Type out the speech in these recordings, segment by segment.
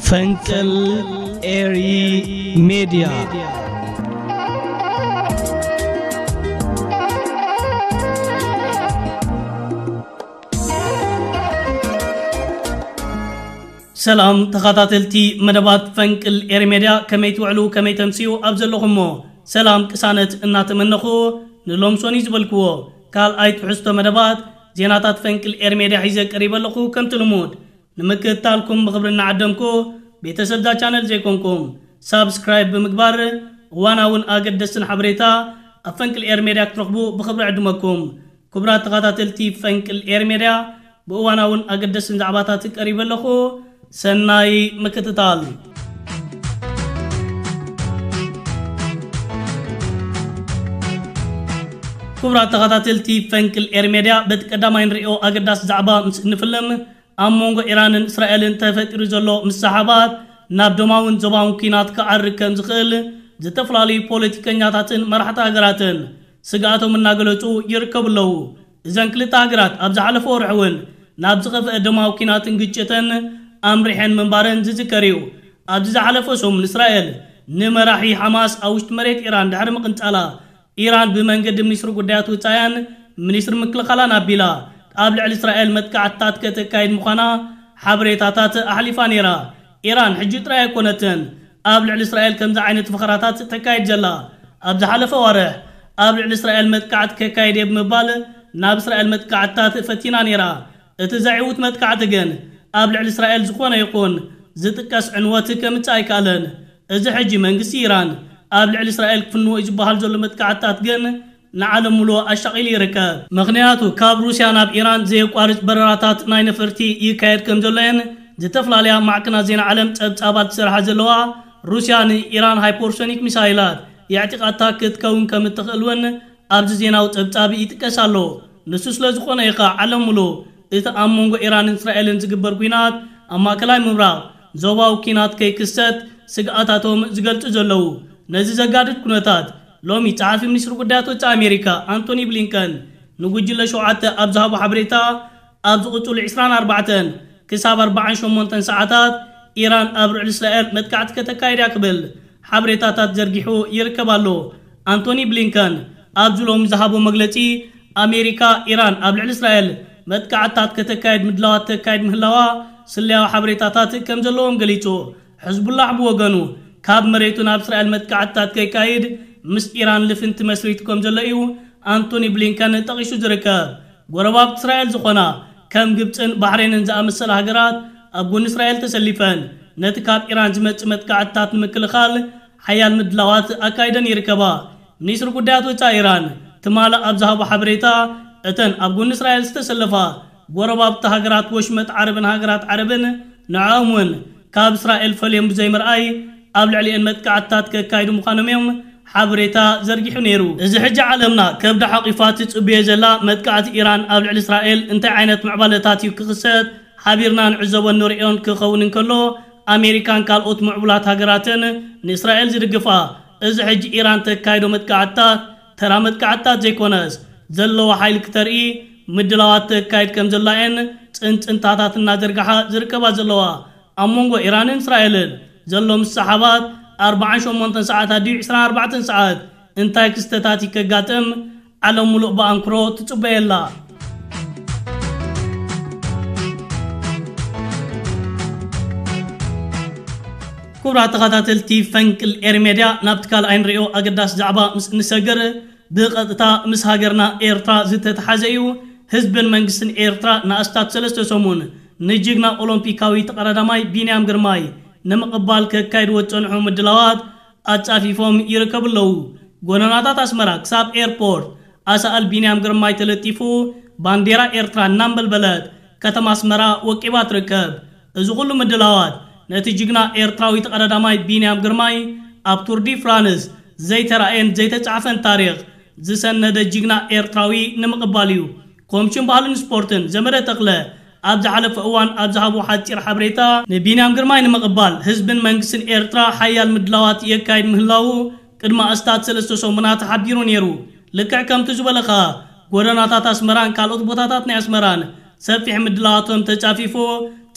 ፈንቅል ኤሪ ሜድያ። ሰላም ተኸታተልቲ መደባት ፈንቅል ኤሪ ሜድያ፣ ከመይ ትውዕሉ፣ ከመይ ተምስዩ ኣብ ዘለኹሞ ሰላም ቅሳነት እናተመነኹ፣ ንሎምሶኒ ዝበልክዎ ካልኣይ ትሕዝቶ መደባት ዜናታት ፈንቅል ኤሪ ሜድያ ሒዘ ቀሪበ ኣለኹ። ከምቲ ልሙድ ንምክትታልኩም ብኽብሪ እናዓደምኩ፣ ቤተሰብ እዛ ቻነል ዘይኮንኩም ሳብስክራይብ ብምግባር እዋናውን ኣገደስትን ሓበሬታ ኣብ ፈንቅል ኤር ሜድያ ክትረኽቡ ብኽብሪ ዕድመኩም። ክቡራት ተኸታተልቲ ፈንቅል ኤር ሜድያ፣ ብእዋናውን ኣገደስትን ዛዕባታት ቀሪበ ኣለኹ። ሰናይ ምክትታል። ክቡራት ተኸታተልቲ ፈንቅል ኤር ሜድያ፣ በቲ ቀዳማይ ንሪኦ ኣገዳሲ ዛዕባ ምስ እንፍልም፣ ኣብ መንጎ ኢራንን እስራኤልን ተፈጢሩ ዘሎ ምስሕሓባት ናብ ደማውን ዞባውን ኲናት ክዓርግ ከም ዝኽእል ዝተፈላለዩ ፖለቲከኛታትን መራሕቲ ሃገራትን ስግኣቶም እናገለጹ ይርከቡ ኣለዉ። እዘን ክልተ ሃገራት ኣብ ዝሓለፈ ወርሒ እውን ናብ ዝኸፍአ ደማዊ ኲናትን ግጭትን ኣምሪሐን ምንባረን ዝዝከር እዩ። ኣብዚ ዝሓለፈ ሰሙን እስራኤል ንመራሒ ሓማስ ኣብ ውሽጢ መሬት ኢራን ድሕሪ ምቕንጻላ፣ ኢራን ብመንገዲ ሚኒስትሪ ጉዳያት ወጻኢኣን ሚኒስትሪ ምክልኻላን ኣቢላ ኣብ ልዕሊ እስራኤል መጥቃዕትታት ከተካይድ ምዃና ሓበሬታታት ኣሕሊፋ ነይራ። ኢራን ሕጂ ጥራይ ኣይኮነትን ኣብ ልዕሊ እስራኤል ከምዚ ዓይነት ፈኸራታት ተካይድ ዘላ። ኣብ ዝሓለፈ ኣዋርሕ ኣብ ልዕሊ እስራኤል መጥቃዕቲ ከካይድ እየ ብምባል ናብ እስራኤል መጥቃዕትታት ፈቲና ነይራ። እቲ ዘዕውት መጥቃዕቲ ግን ኣብ ልዕሊ እስራኤል ዝኾነ ይኹን ዝጥቀስ ዕንወት ከምጽእ ኣይከኣለን። እዚ ሕጂ መንግስቲ ኢራን ኣብ ልዕሊ እስራኤል ክፍንዎ እዩ ዝበሃል ዘሎ መጥቃዕትታት ግን ንዓለም ሙሉእ ኣሻቒሉ ይርከብ። ምኽንያቱ ካብ ሩስያ ናብ ኢራን ዘየቋርጽ በረራታት ናይ ነፈርቲ ይካየድ ከም ዘሎየን ዝተፈላለያ ማዕከናት ዜና ዓለም ጸብጻባት ዝሰርሓ ዘለዋ፣ ሩስያ ንኢራን ሃይፐርሶኒክ ሚሳይላት የዕጢቓታ ክትከውን ከም እትኽእል እውን ኣብዚ ዜናዊ ጸብጻብ ይጥቀስ ኣሎ። ንሱ ስለ ዝኾነ እዩ ኸኣ ዓለም ሙሉእ እቲ ኣብ መንጎ ኢራንን እስራኤልን ዝግበር ኲናት ኣብ ማእከላይ ምብራቕ ዞባዊ ኲናት ከይክሰት ስግኣታቶም ዝገልጹ ዘለዉ። ነዚ ዘጋድድ ኩነታት ሎሚ ጸሓፊ ሚኒስትሪ ጉዳያት ወጻኢ ኣሜሪካ ኣንቶኒ ብሊንከን ንጉጅለ ሸውዓተ ኣብ ዝሃቦ ሓበሬታ፣ ኣብ ዝቕጽሉ ዕስራን ኣርባዕተን ክሳብ ኣርባዓን ሸሞንተን ሰዓታት ኢራን ኣብ ልዕሊ እስራኤል መጥቃዕቲ ከተካይድ እያ ክብል ሓበሬታታት ዘርጊሑ ይርከብ ኣሎ። ኣንቶኒ ብሊንከን ኣብዚ ሎሚ ዝሃቦ መግለጺ፣ ኣሜሪካ ኢራን ኣብ ልዕሊ እስራኤል መጥቃዕትታት ከተካይድ ምድላዋት ተካይድ ምህላዋ ስለያዊ ሓበሬታታት ከም ዘለዎም ገሊጹ። ሕዝቡላሕ ብወገኑ፣ ካብ መሬቱ ናብ እስራኤል መጥቃዕትታት ከይካይድ ምስ ኢራን ልፍንቲ መስሪቱ ከም ዘሎ እዩ ኣንቶኒ ብሊንከን ጠቒሱ ዝርከብ። ጎረባብቲ እስራኤል ዝኾና ከም ግብጽን ባሕሬንን ዝኣመሰላ ሃገራት ኣብ ጎኒ እስራኤል ተሰሊፈን፣ ነቲ ካብ ኢራን ዝመጽእ መጥቃዕትታት ንምክልኻል ሓያል ምድላዋት ኣካይደን ይርከባ። ሚኒስትሪ ጉዳያት ወጻኢ ኢራን ትማሊ ኣብ ዝሃቦ ሓበሬታ፣ እተን ኣብ ጎኒ እስራኤል ዝተሰለፋ ጎረባብቲ ሃገራት ወሽመጥ ዓረብን ሃገራት ዓረብን ንዕኦም እውን ካብ እስራኤል ፈልዮም ብዘይምርኣይ ኣብ ልዕሊአን መጥቃዕትታት ከካይዱ ምዃኖም እዮም ሓበሬታ ዘርጊሑ ነይሩ። እዚ ሕጂ ዓለምና ከብዳ ሓቂፋ ትጽብዮ ዘላ መጥቃዕቲ ኢራን ኣብ ልዕሊ እስራኤል እንታይ ዓይነት ምዕባለታት እዩ ክኽሰት ሓቢርና ንዕዘቦን ንርእዮን ክኸውን እንከሎ፣ ኣሜሪካን ካልኦት ምዕቡላት ሃገራትን ንእስራኤል ዝድግፋ፣ እዚ ሕጂ ኢራን ተካይዶ መጥቃዕትታት ተራ መጥቃዕትታት ዘይኮነስ፣ ዘለዎ ሓይሊ ክተርኢ ምድላዋት ተካይድ ከም ዘላ እየን ጽንጽንታታት እናዘርግሓ ዝርከባ ዘለዋ። ኣብ መንጎ ኢራንን እስራኤልን ዘሎ ምስሕሓባት ኣርባዓን ሸሞንተን ሰዓታት ድዩ ዕስራን ኣርባዕተን ሰዓት እንታይ ክስተታት እዩ ከጋጥም ዓለም ሙሉእ ብኣንክሮ ትጽበየላ። ክቡራት ተኸታተልቲ ፈንቅል ኤር ሜድያ፣ ናብቲ ካልኣይ ንሪኦ ኣገዳሲ ዛዕባ ምስ እንሰግር፣ ብቐጥታ ምስ ሃገርና ኤርትራ ዝተተሓዘ እዩ። ህዝብን መንግስትን ኤርትራ ንኣስታት ሰለስተ ሰሙን ንጅግና ኦሎምፒካዊ ተቐዳዳማይ ቢንያም ግርማይ ንምቕባል ከካይድዎ ዝጸንሑ ምድላዋት ኣጻፊፎም ይርከቡ ኣለዉ። ጎደናታት ኣስመራ ክሳብ ኤርፖርት ኣሳእል ቢንያም ግርማይ ተለጢፉ፣ ባንዴራ ኤርትራ እናንበልበለት ከተማ ኣስመራ ወቂባ ትርከብ። እዚ ኩሉ ምድላዋት ነቲ ጅግና ኤርትራዊ ተቐዳዳማይ ቢንያም ግርማይ ኣብ ቱር ዲ ፍራንስ ዘይተራእየን ዘይተጻሕፈን ታሪኽ ዝሰነደ ጅግና ኤርትራዊ ንምቕባል እዩ። ኮምሽን ባህልን ስፖርትን ዘመደ ተኽለ ኣብ ዝሓለፈ እዋን ኣብ ዝሃቦ ሓጺር ሓበሬታ፣ ንቢንያም ግርማይ ንምቕባል ህዝብን መንግስትን ኤርትራ ሓያል ምድላዋት የካይድ ምህላዉ ቅድሚ ኣስታት ሰለስተ ሰሙናት ሓቢሩ ነይሩ። ልክዕ ከምቲ ዝበለ ኸኣ፣ ጎደናታት ኣስመራን ካልኦት ቦታታት ናይ ኣስመራን ሰፊሕ ምድላዋቶም ተጻፊፉ፣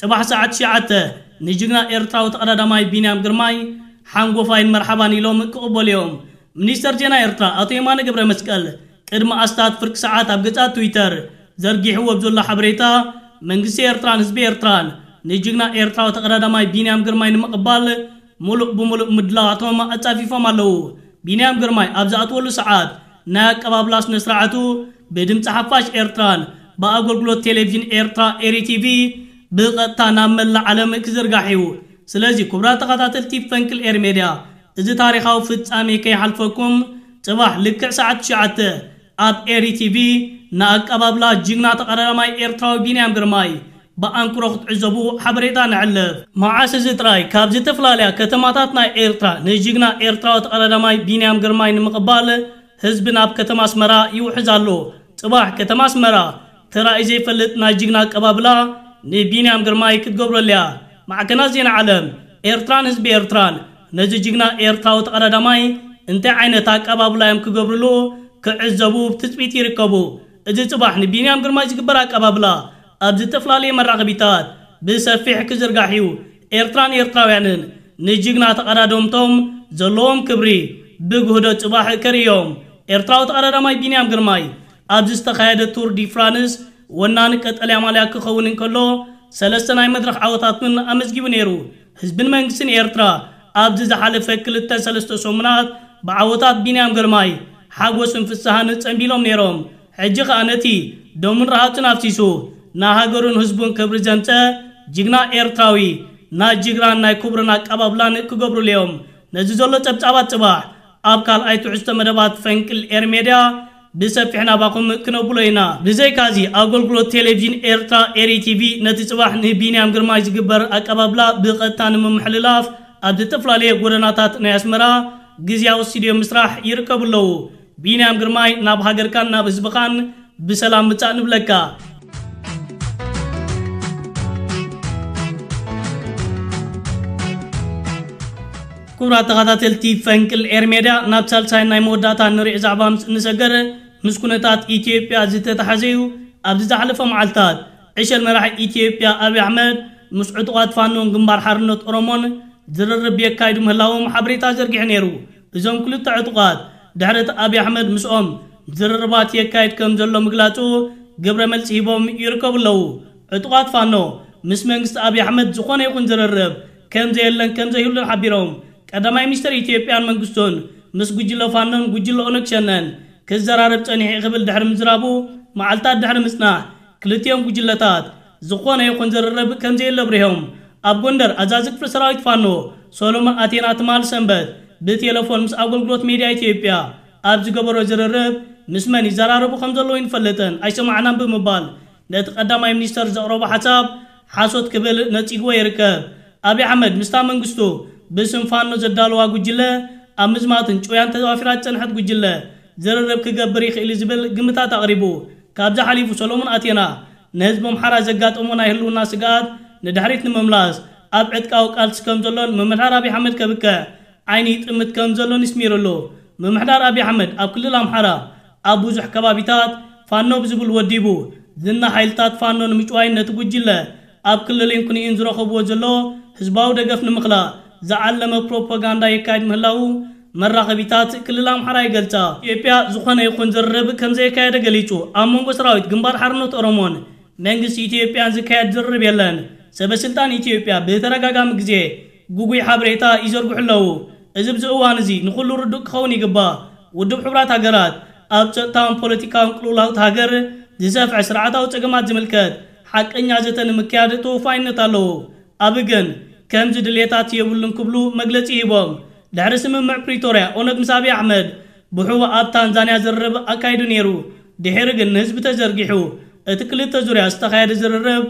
ጽባሕ ሰዓት ትሽዓተ ንጅግና ኤርትራዊ ተቐዳዳማይ ቢንያም ግርማይ ሓንጎፋይን መርሓባን ኢሎም ክቕበሉ እዮም። ሚኒስተር ዜና ኤርትራ ኣቶ የማነ ገብረ መስቀል ቅድሚ ኣስታት ፍርቂ ሰዓት ኣብ ገጻት ትዊተር ዘርጊሕዎ ኣብ ዘሎ ሓበሬታ፣ መንግስቲ ኤርትራን ህዝቢ ኤርትራን ንጅግና ኤርትራዊ ተቐዳዳማይ ቢንያም ግርማይ ንምቕባል ሙሉእ ብሙሉእ ምድላዋቶም ኣጻፊፎም ኣለዉ። ቢንያም ግርማይ ኣብ ዝኣትወሉ ሰዓት ናይ ኣቀባብላ ስነ ስርዓቱ ብድምፂ ሓፋሽ ኤርትራን ብኣገልግሎት ቴሌቪዥን ኤርትራ ኤሪ ቲቪ ብቐጥታ ናብ መላእ ዓለም ክዝርጋሕ እዩ። ስለዚ ክቡራት ተኸታተልቲ ፈንቅል ኤሪ ሜድያ፣ እዚ ታሪኻዊ ፍጻሜ ከይሓልፈኩም፣ ጽባሕ ልክዕ ሰዓት ትሽዓተ ኣብ ኤሪ ቲቪ ንኣቀባብላ ጅግና ተቐዳዳማይ ኤርትራዊ ቢንያም ግርማይ ብኣንክሮ ክትዕዘቡ ሓበሬታ ነዕልፍ። መዓስ እዚ ጥራይ ካብ ዝተፈላለያ ከተማታት ናይ ኤርትራ ንጅግና ኤርትራዊ ተቐዳዳማይ ቢንያም ግርማይ ንምቕባል ህዝቢ ናብ ከተማ ኣስመራ ይውሕዝ ኣሎ። ጽባሕ ከተማ ኣስመራ ተራእዩ ዘይፈልጥ ናይ ጅግና ኣቀባብላ ንቢንያም ግርማይ ክትገብረሉ እያ። ማዕከናት ዜና ዓለም፣ ኤርትራን ህዝቢ ኤርትራን ነዚ ጅግና ኤርትራዊ ተቐዳዳማይ እንታይ ዓይነት ኣቀባብላ እዮም ክገብርሉ ክዕዘቡ ብትጽቢት ይርከቡ። እዚ ጽባሕ ንቢንያም ግርማይ ዝግበር ኣቀባብላ ኣብ ዝተፈላለየ መራኸቢታት ብሰፊሕ ክዝርጋሕ እዩ። ኤርትራን ኤርትራውያንን ንጅግና ተቐዳደምቶም ዘለዎም ክብሪ ብግህዶ ጽባሕ ከርእዮም። ኤርትራዊ ተቐዳዳማይ ቢንያም ግርማይ ኣብዚ ዝተኻየደ ቱር ዲ ፍራንስ ወናኒ ቀጠልያ ማልያ ክኸውን እንከሎ፣ ሰለስተ ናይ መድረኽ ዓወታት እውን ኣመዝጊቡ ነይሩ። ህዝብን መንግስትን ኤርትራ ኣብዚ ዝሓለፈ ክልተ ሰለስተ ሰሙናት ብዓወታት ቢንያም ግርማይ ሓጎስን ፍስሃን ጸንቢሎም ነይሮም። ሕጂ ኸኣ ነቲ ደሙን ረሃጹን ኣፍሲሱ ንሃገሩን ህዝቡን ክብሪ ዘምጸ ጅግና ኤርትራዊ ናይ ጅግራን ናይ ክብርን ኣቀባብላን ክገብሩሉ እዮም። ነዚ ዘሎ ጸብጻባት ጽባሕ ኣብ ካልኣይ ትሕዝቶ መደባት ፈንቅል ኤሪ ሜድያ ብሰፊሕ ናባኹም ክነብሎ ኢና። ብዘይካዚ ኣገልግሎት ቴሌቪዥን ኤርትራ ኤሪ ቲቪ ነቲ ጽባሕ ንቢንያም ግርማይ ዝግበር ኣቀባብላ ብቐጥታ ንምምሕልላፍ ኣብ ዝተፈላለየ ጎደናታት ናይ ኣስመራ ግዝያዊ ስቱድዮ ምስራሕ ይርከቡ ኣለዉ። ቢንያም ግርማይ ናብ ሃገርካን ናብ ህዝብኻን ብሰላም ምጻእ ንብለካ። ክቡራት ተኸታተልቲ ፈንቅል ኤር ሜድያ፣ ናብ ሳልሳይ ናይ መወዳእታ ንሪዕ ዛዕባ ምስ እንሰገር፣ ምስ ኩነታት ኢትዮጵያ ዝተተሓዘ እዩ። ኣብዚ ዝሓለፈ መዓልታት ዕሸል መራሒ ኢትዮጵያ ኣብይ ኣሕመድ ምስ ዕጡቓት ፋኖን ግንባር ሓርነት ኦሮሞን ዝርርብ የካይዱ ምህላዎም ሓበሬታ ዘርጊሑ ነይሩ። እዞም ክልተ ዕጡቓት ድሕሪ እቲ ኣብይ ኣሕመድ ምስኦም ዝርርባት የካይድ ከም ዘሎ ምግላጹ ግብረ መልሲ ሂቦም ይርከቡ ኣለዉ። ዕጡቓት ፋኖ ምስ መንግስቲ ኣብይ ኣሕመድ ዝኾነ ይኹን ዝርርብ ከም ዘየለን ከም ዘይህሉን ሓቢሮም። ቀዳማይ ሚኒስትር ኢትዮጵያን መንግስቱን ምስ ጉጅለ ፋኖን ጉጅለ ኦነግ ሸነን ክዘራረብ ጸኒሑ ክብል ድሕሪ ምዝራቡ፣ መዓልታት ድሕሪ ምጽናሕ ክልቲኦም ጉጅለታት ዝኾነ ይኹን ዝርርብ ከም ዘየለ ኣብሪሆም። ኣብ ጎንደር ኣዛዚ ክፍለ ሰራዊት ፋኖ ሶሎሞን ኣቴና ትማል ሰንበት ብቴሌፎን ምስ ኣገልግሎት ሜድያ ኢትዮጵያ ኣብ ዝገበሮ ዝርርብ፣ ምስ መን ይዘራረቡ ከም ዘለዉ ኣይንፈልጥን፣ ኣይሰማዕናን ብምባል ነቲ ቀዳማይ ሚኒስተር ዘቕረቦ ሓሳብ ሓሶት ክብል ነጺግዎ ይርከብ። ኣብይ ኣሕመድ ምስታ መንግስቱ ብስም ፋኖ ዘዳለዋ ጉጅለ ኣብ ምዝማትን ጭውያን ተዋፊራ ዝጸንሐት ጉጅለ ዝርርብ ክገብር ይኽእል እዩ ዝብል ግምታት ኣቕሪቡ። ካብዚ ሓሊፉ ሰሎሞን ኣቴና ንህዝቢ ኣምሓራ ዘጋጠሞ ናይ ህልውና ስግኣት ንድሕሪት ንምምላስ ኣብ ዕጥቃዊ ቃልሲ ከም ዘሎን ምምሕዳር ኣብይ ኣሕመድ ከብቅዕ ዓይኒ ይጥምት ከም ዘሎን ይስሚርሉ። ምምሕዳር ኣብይ ኣሕመድ ኣብ ክልል ኣምሓራ ኣብ ብዙሕ ከባቢታት ፋኖ ብዝብል ወዲቡ ዝና ሓይልታት ፋኖ ንምጭዋይን ነቲ ጉጅለ ኣብ ክልልን ኩንኢን ዝረኸብዎ ዘሎ ህዝባዊ ደገፍ ንምኽላእ ዝዓለመ ፕሮፓጋንዳ የካይድ ምህላዉ መራኸቢታት ክልል ኣምሓራ ይገልጻ። ኢትዮጵያ ዝኾነ ይኹን ዝርርብ ከም ዘየካየደ ገሊጹ። ኣብ መንጎ ሰራዊት ግንባር ሓርነት ኦሮሞን መንግስቲ ኢትዮጵያን ዝካየድ ዝርርብ የለን። ሰበ ስልጣን ኢትዮጵያ ብተደጋጋሚ ግዜ ግጉይ ሓበሬታ ይዘርግሑ ኣለዉ። እዚ ኣብዚ እዋን እዚ ንኹሉ ርዱእ ክኸውን ይግባእ። ውድብ ሕቡራት ሃገራት ኣብ ጸጥታውን ፖለቲካውን ቅልውላው እታ ሃገር ዝሰፍሐ ስርዓታዊ ጸገማት ዝምልከት ሓቀኛ ዘተ ንምክያድ ተወፋይነት ኣለዎ። ኣብይ ግን ከምዚ ድልየታት የብሉን ክብሉ መግለጺ ሂቦም። ድሕሪ ስምምዕ ፕሪቶርያ ኦነግ ምስ ኣብይ ኣሕመድ ብሕቡእ ኣብ ታንዛንያ ዝርርብ ኣካይዱ ነይሩ። ድሒሩ ግን ንህዝቢ ተዘርጊሑ እቲ ክልተ ዙርያ ዝተኻየደ ዝርርብ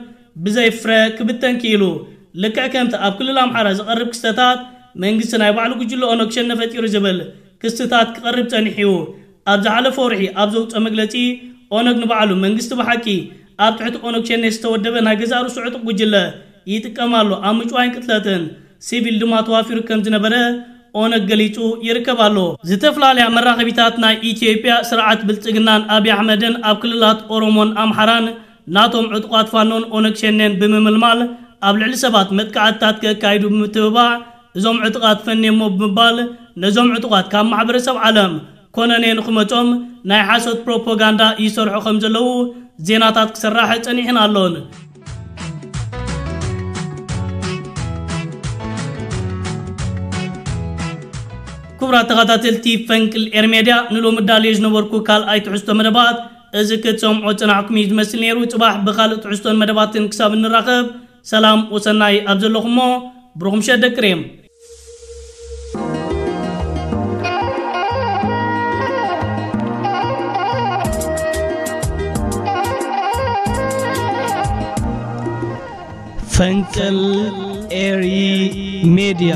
ብዘይ ፍረ ክብተን ክኢሉ። ልክዕ ከምቲ ኣብ ክልል ኣምሓራ ዝቐርብ ክስተታት መንግስቲ ናይ ባዕሉ ጉጅለ ኦነግ ሸኔ ፈጢሩ ዝብል ክስታት ክቐርብ ጸኒሑ እዩ። ኣብ ዝሓለፈ ወርሒ ኣብ ዘውፅኦ መግለፂ ኦነግ ንባዕሉ መንግስቲ ብሓቂ ኣብ ትሕቲ ኦነግ ሸኔ ዝተወደበ ናይ ገዛእ ርእሱ ዕጡቕ ጉጅለ ይጥቀም ኣሎ፣ ኣብ ምጭዋይን ቅትለትን ሲቪል ድማ ተዋፊሩ ከም ዝነበረ ኦነግ ገሊጹ ይርከብ ኣሎ። ዝተፈላለያ መራኸቢታት ናይ ኢትዮጵያ ስርዓት ብልጽግናን ኣብይ ኣሕመድን ኣብ ክልላት ኦሮሞን ኣምሓራን ናቶም ዕጡቓት ፋኖን ኦነግ ሸኔን ብምምልማል ኣብ ልዕሊ ሰባት መጥቃዕትታት ከካይዱ ብምትብባዕ፣ እዞም ዕጡቓት ፈንየሞ ብምባል ነዞም ዕጡቓት ካብ ማሕበረሰብ ዓለም ኮነኔ ንኽመጾም ናይ ሓሶት ፕሮፓጋንዳ ይሰርሑ ከም ዘለዉ ዜናታት ክሰራሕ ጸኒሕን ኣሎን። ክቡራት ተኸታተልቲ ፈንቅል ኤር ሜድያ፣ ንሎሚ ዳልዮ ዝነበርኩ ካልኣይ ትሕዝቶ መደባት እዚ ክትሰምዖ ጽናሕኩም እዩ ዝመስል ነይሩ። ጽባሕ ብኻልእ ትሕዝቶን መደባትን ክሳብ እንራኸብ፣ ሰላም ወሰናይ ኣብ ዘለኹሞ፣ ብሩኽ ምሸት ደቂ ሬም። ፈንቅል ኤሪ ሜድያ።